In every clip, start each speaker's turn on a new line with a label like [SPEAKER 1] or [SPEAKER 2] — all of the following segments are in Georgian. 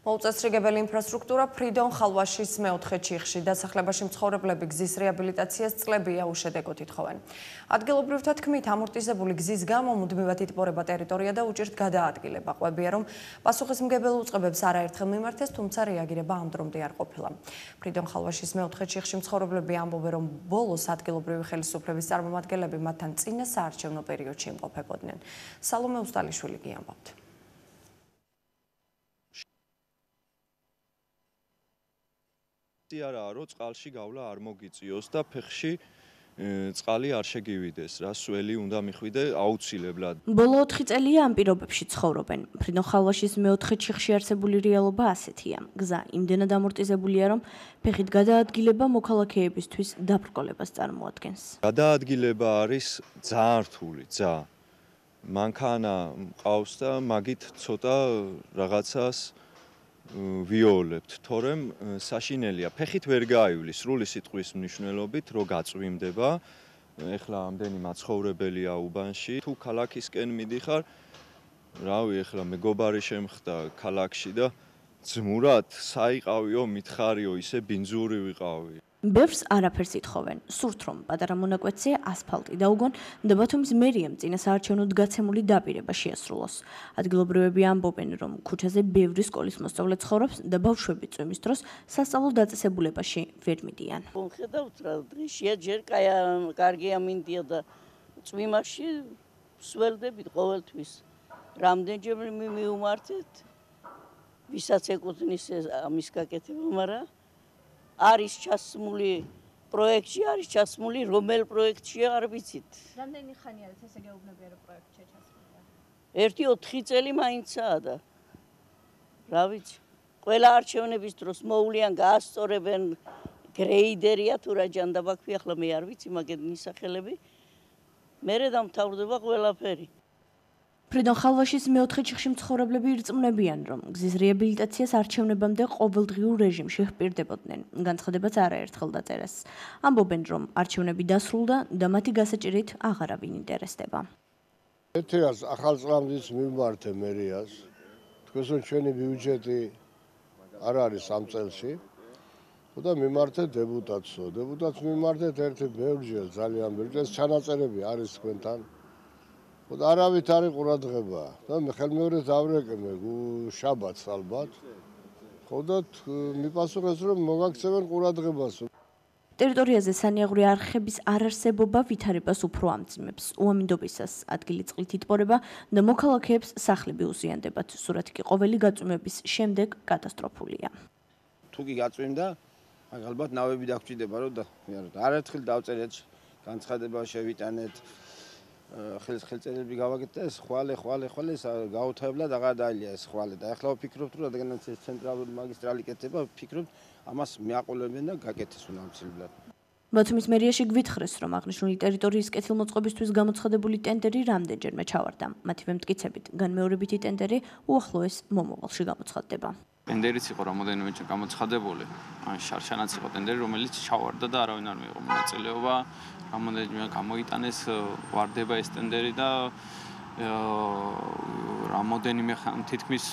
[SPEAKER 1] მოუწესრიგებელი ინფრასტრუქტურა ფრიდონ ხალვაშის მეოთხე ჩიხში დასახლებაში მცხოვრებლები გზის რეაბილიტაციას წლებია უშედეგოდ ითხოვენ. ადგილობრივთა თქმით, ამორტიზებული გზის გამო მუდმივად იტბორება ტერიტორია და უჭირთ გადაადგილება. ყვებია, რომ პასუხისმგებელ უწყებებს არაერთხელ მიმართეს, თუმცა რეაგირება ამ დრომდე არ ყოფილა. ფრიდონ ხალვაშის მეოთხე ჩიხში მცხოვრებლები ამბობენ, რომ ბოლოს ადგილობრივი ხელისუფლების წარმომადგენლები მათთან წინა საარჩევნო პერიოდში იმყოფებოდნენ. სალომე უსტალიშვილი კი ამბობთ.
[SPEAKER 2] არაა რომ წყალში გავლა არ მოგიწიოს და ფეხში წყალი არ შეგივიდეს, რა სველი უნდა მიხვიდე აუცილებლად.
[SPEAKER 3] ბოლო 4 წელია ამ პირობებში ცხოვრობენ. ფრიდონ ხალვაშის მეოთხე ჩიხში არსებული რეალობა ასეთია. გზა იმდენად ამორტიზებულია, რომ ფეხით გადაადგილება მოქალაქეებისთვის დაბრკოლებას წარმოადგენს.
[SPEAKER 2] გადაადგილება არის ძალიან რთული, მანქანა მყავს და მაგით ცოტა რაღაცას ვიოლებთ, თორემ საშინელია. ფეხით ვერ გაივლის, სრული სიტყვის მნიშვნელობით, რომ გაწვიმდება. ეხლა ამდენი მაცხოვრებელია უბანში. თუ ქალაქისკენ მიდიხარ, რავი, ეხლა მეგობარი შემხდა ქალაქში და ძმურად საიყავიო, მითხარიო, ისე ბინძური ვიყავი.
[SPEAKER 3] ბევრს არაფერს ითხოვენ. სურთ რომ პატარა მონაკვეთზე ასფალტი დაუგონ და ბათუმის მერიამ წინა საარჩევნოდ გაცემული დაპირება შეასრულოს. ადგილობრივები ამბობენ, რომ ქუჩაზე ბევრი სკოლის მოსწავლე ცხოვრობს და ბავშვები წვიმის დროს სასწავლო დაწესებულებაში ვერ მიდიან.
[SPEAKER 4] ხედავთ რა, დღეშია ჯერ კარგია მინდია და წვიმაში სველდებით ყოველთვის. რამდენჯერ მივუმართეთ, ვისაც ეკუთვნის ამის გაკეთება, მაგრამ არის ჩასმული პროექტში, არის ჩასმული რომელ პროექტშია არ ვიცით.
[SPEAKER 3] რამდენი ხანია ესე გეუბნებიან პროექტში ჩასმული?
[SPEAKER 4] 1-4 წელი მაინცაა და რა ვიცი. ყველა არჩევნების დროს მოვლიან, გაასწორებენ, გრეიდერია თუ რა ჯანდაბა ქვია, ახლა მე არ ვიცი მაგენი სახელები. მერე დამთავრდება ყველაფერი.
[SPEAKER 3] ფრიდონ ხალვაშის მეოთხე ჩიხში მცხოვრებლები ირწმუნებიან, რომ გზის რეაბილიტაციას არჩევნებამდე ყოველდღიურ რეჟიმში ჰპირდებოდნენ. განცხადებაც არაერთხელ დაწერეს. ამბობენ, რომ არჩევნები დასრულდა და მათი გასაჭირით აღარავინ ინტერესდება.
[SPEAKER 5] ეთერას ახალ წლამდეც მიმართე მერიას. თქვენს რომ ჩვენი ბიუჯეტი არ არის ამ წელში. და მიმართე დეპუტატსო. დეპუტატს მიმართეთ ერთი ბევრჯერ, ძალიან ბევრჯერ ჩანაწერები არის თქვენთან. და არავით არის ყურადღება და მე ხელმეორეს დავრეკმე შაბათს ალბათ. ხოდა მიპასუხეს რომ მოგაქცევენ ყურადღებას.
[SPEAKER 3] ტერიტორიაზე სანიაღვრე არხების არარსებობა ვითარებას უფრო ამძიმებს. უამინდობისას ადგილი წყლით იტბორება და მოქალაქეებს სახლები უზიანდებათ. სურათი კი ყოველი გაწვიმების შემდეგ კატასტროფულია.
[SPEAKER 6] თუ კი გაწვიმდა, ალბათ ნავები დაგჭირდება რომ არაერთხელ დავწერეთ, განცხადება შევიტანეთ. ხელწერები გავაკეთეთ და ეს ხვალე გაუთავებლად აღარ დაილია ეს ხვალე და ახლა ვფიქრობთ რომ რადგანაც ეს ცენტრალური მაგისტრალი კეთდება ვფიქრობთ ამას მიაყოლებენ და გაკეთეს უნამცილებლად.
[SPEAKER 3] ბათუმის მერიაში გვითხრეს რომ აღნიშნული ტერიტორიის კეთილმოწყობისთვის გამოცხადებული ტენდერი რამდენჯერმე ჩავარდა. მათივე მტკიცებით განმეორებითი ტენდერი უახლოეს მომავალში გამოცხადდება.
[SPEAKER 7] ტენდერიც იყო რამოდენიმე გამოცხადებული, ან შარშანაც იყო ტენდერი, რომელიც ჩავარდა და არავინ არ მიიღო მონაწილეობა. რამოდენიმე გამოიტანეს, ვარდება ეს ტენდერი და რამოდენიმე თითქმის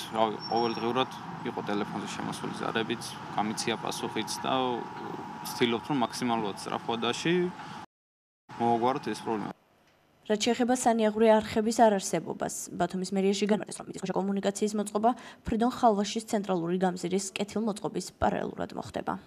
[SPEAKER 7] ყოველდღიურად იყო ტელეფონზე შემოსული ზარებით, გამიცია პასუხიც და ვცდილობთ რომ მაქსიმალურად სწრაფვადაში მოვაგვაროთ ეს პრობლემა.
[SPEAKER 3] რაც შეეხება სანიაღვრე არხების არარსებობას, ბათუმის მერიაში განმარტეს, რომ მიწისქვეშა კომუნიკაციის მოწყობა ფრიდონ ხალვაშის ცენტრალური გამზირის კეთილმოწყობის პარალელურად მოხდება.